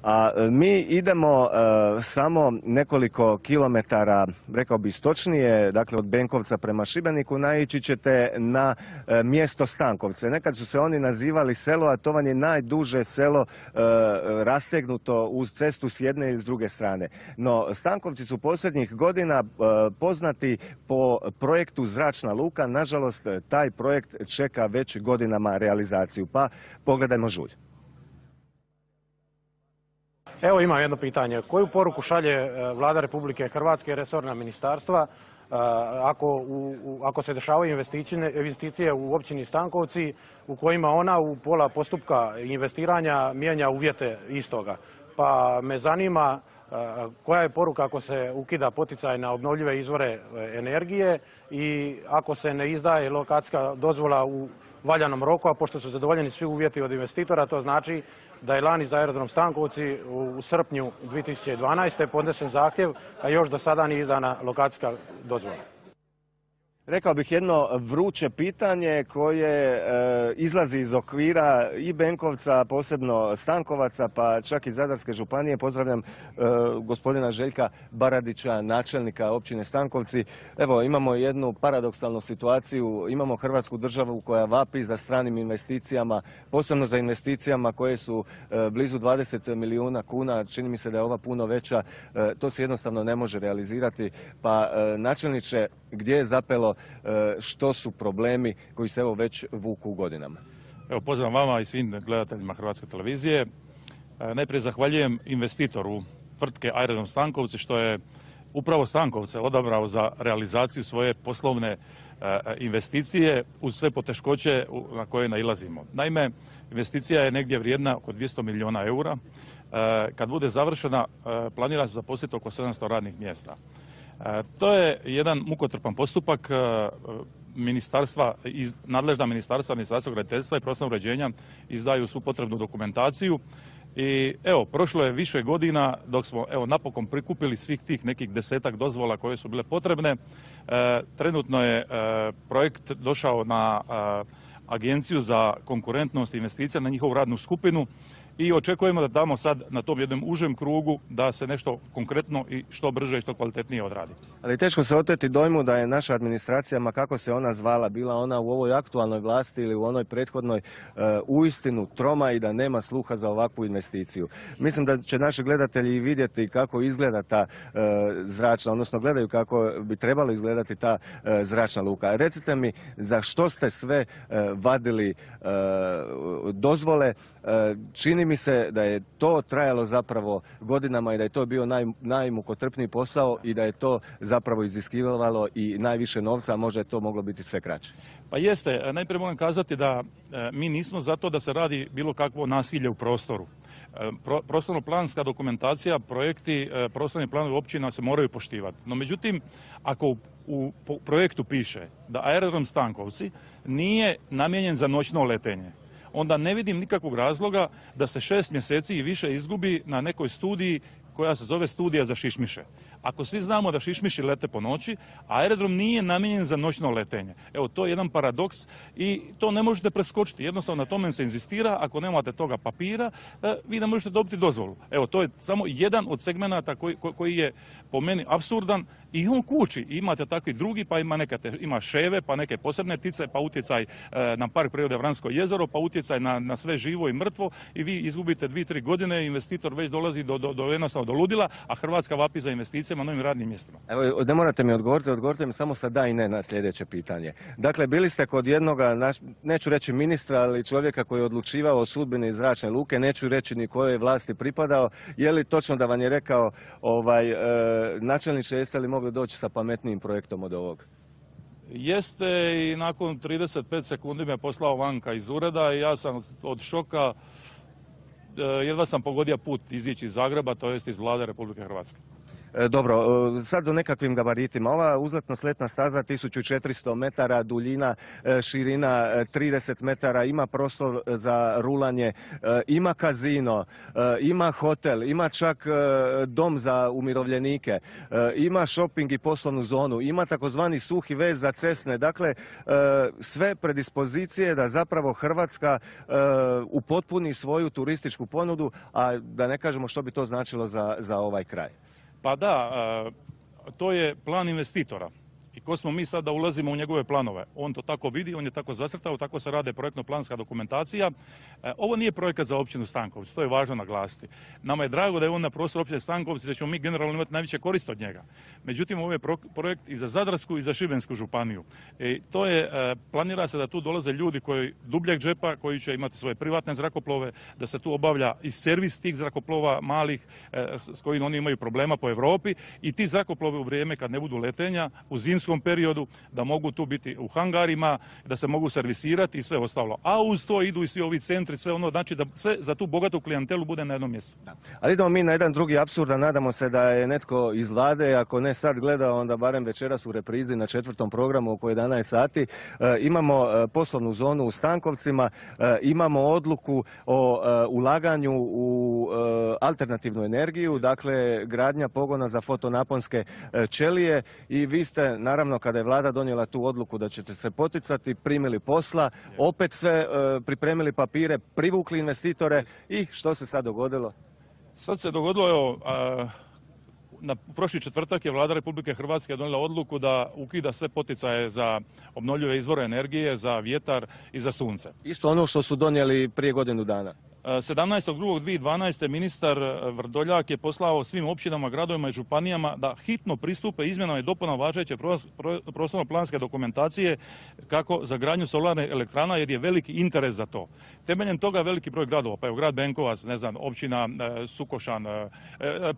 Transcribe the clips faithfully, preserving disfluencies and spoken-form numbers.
A mi idemo uh, samo nekoliko kilometara, rekao bi istočnije, dakle od Benkovca prema Šibeniku, naići ćete na uh, mjesto Stankovce. Nekad su se oni nazivali selo, a to vam je najduže selo uh, rastegnuto uz cestu s jedne i s druge strane. No, Stankovci su posljednjih godina uh, poznati po projektu Zračna luka. Nažalost, taj projekt čeka već godinama realizaciju. Pa pogledajmo žulj. Evo imam jedno pitanje. Koju poruku šalje Vlada Republike Hrvatske i resorna ministarstva ako, u, ako se dešavaju investicije u općini Stankovci u kojima ona u pola postupka investiranja mijenja uvjete istoga? Pa me zanima koja je poruka ako se ukida poticaj na obnovljive izvore energije i ako se ne izdaje lokacijska dozvola u valjanom roku, a pošto su zadovoljeni svi uvjeti od investitora, to znači da je lani za aerodrom Stankovci u srpnju dvije tisuće dvanaeste. podnesen zahtjev, a još do sada nije izdana lokacijska dozvola. Rekao bih jedno vruće pitanje koje e, izlazi iz okvira i Benkovca, posebno Stankovaca, pa čak i Zadarske županije. Pozdravljam e, gospodina Željka Baradića, načelnika općine Stankovci. Evo, imamo jednu paradoksalnu situaciju. Imamo Hrvatsku državu koja vapi za stranim investicijama, posebno za investicijama koje su e, blizu dvadeset milijuna kuna. Čini mi se da je ova puno veća. E, to se jednostavno ne može realizirati. Pa e, načelniče, gdje je zapelo, što su problemi koji se evo već vuku godinama? Evo, pozdrav vama i svim gledateljima Hrvatske televizije. Najprije zahvaljujem investitoru tvrtke Aerodrom Stankovci što je upravo Stankovce odabrao za realizaciju svoje poslovne investicije uz sve poteškoće na koje nailazimo. Naime, investicija je negdje vrijedna oko dvjesto milijuna eura. Kad bude završena, planira se zaposliti oko sedamsto radnih mjesta. To je jedan mukotrpan postupak. Ministarstva, nadležna ministarstva, Ministarstvo graditeljstva i prostornog uređenja izdaju svu potrebnu dokumentaciju. I evo, prošlo je više godina dok smo evo napokon prikupili svih tih nekih desetak dozvola koje su bile potrebne. E, trenutno je e, projekt došao na e, Agenciju za konkurentnost i investicija, na njihovu radnu skupinu i očekujemo da tamo sad na tom jednom užem krugu da se nešto konkretno i što brže i što kvalitetnije odradi. Ali teško se oteti dojmu da je naša administracija, ma kako se ona zvala, bila ona u ovoj aktualnoj vlasti ili u onoj prethodnoj, uh, uistinu troma i da nema sluha za ovakvu investiciju. Mislim da će naši gledatelji vidjeti kako izgleda ta uh, zračna, odnosno gledaju kako bi trebalo izgledati ta uh, zračna luka. Recite mi, za što ste sve uh, vadili uh, dozvole? Uh, čini mi se da je to trajalo zapravo godinama i da je to bio naj, najmukotrpniji posao i da je to zapravo iziskivalo i najviše novca, a možda je to moglo biti sve kraće. Pa jeste, najprije moram kazati da e, mi nismo zato da se radi bilo kakvo nasilje u prostoru. E, pro, prostorno-planska dokumentacija, projekti, e, prostorni planovi općina se moraju poštivati. No međutim, ako u, u projektu piše da aerodrom Stankovci nije namijenjen za noćno letenje, onda ne vidim nikakvog razloga da se šest mjeseci i više izgubi na nekoj studiji koja se zove studija za šišmiše. Ako svi znamo da šišmiši lete po noći, a aerodrom nije namijenjen za noćno letenje. Evo, to je jedan paradoks i to ne možete preskočiti. Jednostavno na tome se inzistira, ako nemate toga papira, vi ne možete dobiti dozvolu. Evo, to je samo jedan od segmenata koji, koji je po meni apsurdan i on kući. Imate takvi drugi, pa ima, neke, ima ševe, pa neke posebne ptice, pa utjecaj na park prirode Vransko jezero, pa utjecaj na, na sve živo i mrtvo i vi izgubite dvije, tri godine, investitor već dolazi do, do, do jednostavno do ludila, a Hrvatska vapi za investicijama na novim radnim mjestima. Evo, ne morate mi odgovoriti, odgovorite mi samo sa da i ne na sljedeće pitanje. Dakle, bili ste kod jednoga, neću reći ministra, ali čovjeka koji je odlučivao o sudbini zračne luke, neću reći ni kojoj vlasti pripadao. Je li točno da vam je rekao, ovaj, e, načelniče, jeste li mogli doći sa pametnijim projektom od ovog? Jeste, i nakon trideset pet sekundi me poslao vanka iz ureda i ja sam od šoka jedva sam pogodio put izići iz Zagreba, to jest iz Vlade Republike Hrvatske. E, Dobro, e, sad o nekakvim gabaritima. Ova uzletno-sletna staza tisuću četiristo metara, duljina, e, širina e, trideset metara, ima prostor za rulanje, e, ima kazino, e, ima hotel, ima čak e, dom za umirovljenike, e, ima shopping i poslovnu zonu, ima takozvani suhi vez za cesne. Dakle, e, sve predispozicije da zapravo Hrvatska e, upotpuni svoju turističku ponudu, a da ne kažemo što bi to značilo za, za ovaj kraj. Pa da, e, to je plan investitora. I ko smo mi sad da ulazimo u njegove planove? On to tako vidi, on je tako zacrtao, tako se rade projektno-planska dokumentacija. E, ovo nije projekat za općinu Stankovci, to je važno naglasiti. Nama je drago da je on na prostoru općine Stankovci, da ćemo mi generalno imati najveće korist od njega. Međutim, ovo je projekt i za Zadarsku i za Šibensku županiju. E, to je, e, planira se da tu dolaze ljudi koji dubljeg džepa, koji će imati svoje privatne zrakoplove, da se tu obavlja i servis tih zrakoplova malih e, s kojim oni imaju problema po Europi, i ti zrakoplovi u vrijeme kad ne budu letenja, u zimskom periodu, da mogu tu biti u hangarima, da se mogu servisirati i sve ostalo. A uz to idu i svi ovi centri, sve ono, znači da sve za tu bogatu klijentelu bude na jednom mjestu. Da. Ali idemo mi na jedan drugi apsurd, a nadamo se da je netko iz Vlade, ako ne sad gleda, onda barem večeras u reprizi na četvrtom programu oko jedanaest sati. E, imamo e, poslovnu zonu u Stankovcima, e, imamo odluku o e, ulaganju u e, alternativnu energiju, dakle gradnja pogona za fotonaponske e, ćelije, i vi ste, naravno, kada je Vlada donijela tu odluku da ćete se poticati, primili posla, opet sve e, pripremili papire, privukli investitore, i što se sad dogodilo? Sad se dogodilo, evo, a, na prošli četvrtak je Vlada Republike Hrvatske donijela odluku da ukida sve poticaje za obnovljive izvore energije, za vjetar i za sunce. Isto ono što su donijeli prije godinu dana. sedamnaestog drugog dvije tisuće dvanaeste. ministar Vrdoljak je poslao svim općinama, gradovima i županijama da hitno pristupe izmjenama i dopunama važeće prostorno-planske dokumentacije kako za gradnju solarne elektrana, jer je veliki interes za to. Temeljem toga veliki broj gradova, pa evo grad Benkovac, ne znam, općina Sukošan,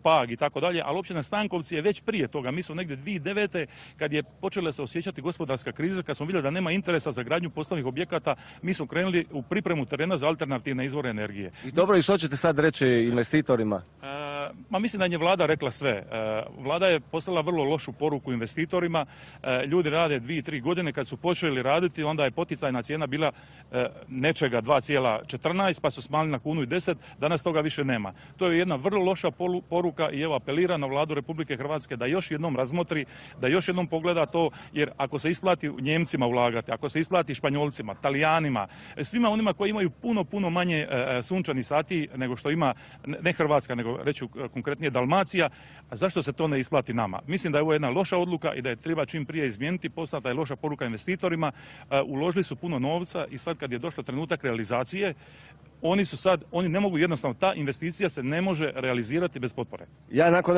Pag i tako dalje, ali općina Stankovci je već prije toga. Mi smo negdje dvije tisuće devete. kad je počela se osjećati gospodarska kriza, kad smo vidjeli da nema interesa za gradnju poslovnih objekata, mi smo krenuli u pripremu terena za alternativne izvore energije. I dobro, i što ćete sad reći investitorima? E, ma mislim da je Vlada rekla sve. E, Vlada je poslala vrlo lošu poruku investitorima. E, ljudi rade dvije, tri godine, kad su počeli raditi, onda je poticajna cijena bila e, nečega dva zarez četrnaest, pa su smanjili na kunu i deset, danas toga više nema. To je jedna vrlo loša poruka, i evo apelira na Vladu Republike Hrvatske da još jednom razmotri, da još jednom pogleda to, jer ako se isplati Njemcima ulagati, ako se isplati Španjolcima, Talijanima, svima onima koji imaju puno, puno manje e, sunčani sati nego što ima, ne Hrvatska, nego reću konkretnije Dalmacija, a zašto se to ne isplati nama? Mislim da je ovo jedna loša odluka i da je treba čim prije izmijeniti, poslata je loša poruka investitorima, uložili su puno novca i sad kad je došao trenutak realizacije, oni su sad, oni ne mogu jednostavno, ta investicija se ne može realizirati bez potpore. Ja nakon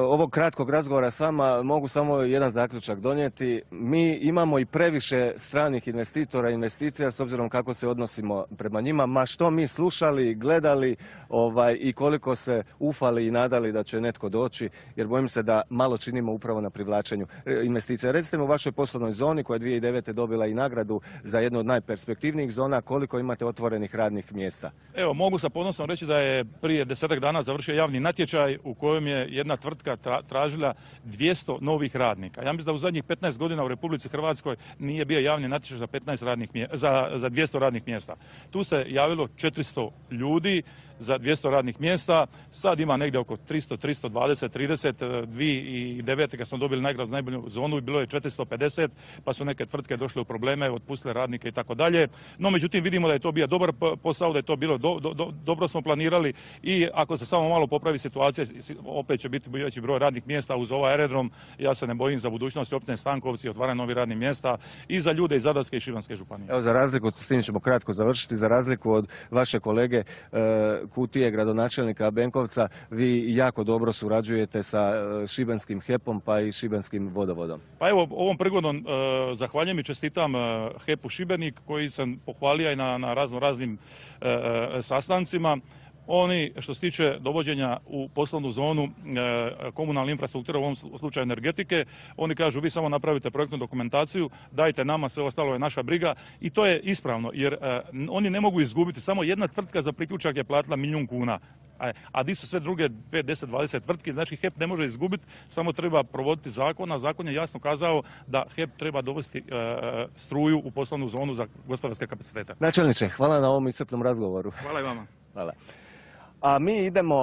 ovog kratkog razgovora s vama mogu samo jedan zaključak donijeti. Mi imamo i previše stranih investitora i investicija s obzirom kako se odnosimo prema njima, ma što mi slušali, gledali ovaj, i koliko se ufali i nadali da će netko doći, jer bojim se da malo činimo upravo na privlačenju investicija. Recite mi u vašoj poslovnoj zoni koja je dvije tisuće devete. dobila i nagradu za jednu od najperspektivnijih zona, koliko imate otvorenih radnih mjesta? Mjesta. Evo, mogu sa ponosom reći da je prije desetak dana završio javni natječaj u kojem je jedna tvrtka tražila dvjesto novih radnika. Ja mislim da u zadnjih petnaest godina u Republici Hrvatskoj nije bio javni natječaj za, petnaest radnih, za, za dvjesto radnih mjesta. Tu se javilo četiristo ljudi za dvjesto radnih mjesta. Sad ima negdje oko tristo, tristo dvadeset, trideset. dvije tisuće devete. kad smo dobili nagradu za najbolju zonu bilo je četiristo pedeset, pa su neke tvrtke došle u probleme, otpustile radnike i tako dalje. No, međutim, vidimo da je to bio dobar posao, da je to bilo do, do, do, dobro smo planirali, i ako se samo malo popravi situacija, opet će biti veći broj radnih mjesta uz ovaj aerodrom. Ja se ne bojim za budućnost općine Stankovci, otvaranje novih radnih mjesta i za ljude iz Zadarske i Šibenske županije. Evo, za razliku, s tim ćemo kratko završiti, za razliku od vaše kolege e, Kutije, gradonačelnika Benkovca, vi jako dobro surađujete sa e, šibenskim hepom pa i šibenskim vodovodom. Pa evo, ovom prigodom e, zahvaljujem i čestitam e, hepu Šibenik, koji sam pohvalio i na, na razno raznim e, sastancima. Oni, što se tiče dovođenja u poslovnu zonu e, komunalne infrastrukture, u ovom slučaju energetike, oni kažu vi samo napravite projektnu dokumentaciju, dajte nama, sve ostalo je naša briga i to je ispravno jer e, oni ne mogu izgubiti. Samo jedna tvrtka za priključak je platila milijun kuna, a, a di su sve druge pet, deset, dvadeset tvrtki, znači HEP ne može izgubiti, samo treba provoditi zakon, a zakon je jasno kazao da HEP treba dovesti e, struju u poslovnu zonu za gospodarske kapacitete. Načelniče, hvala na ovom iscrpnom razgovoru. Hvala i vama. Hvala. A mi idemo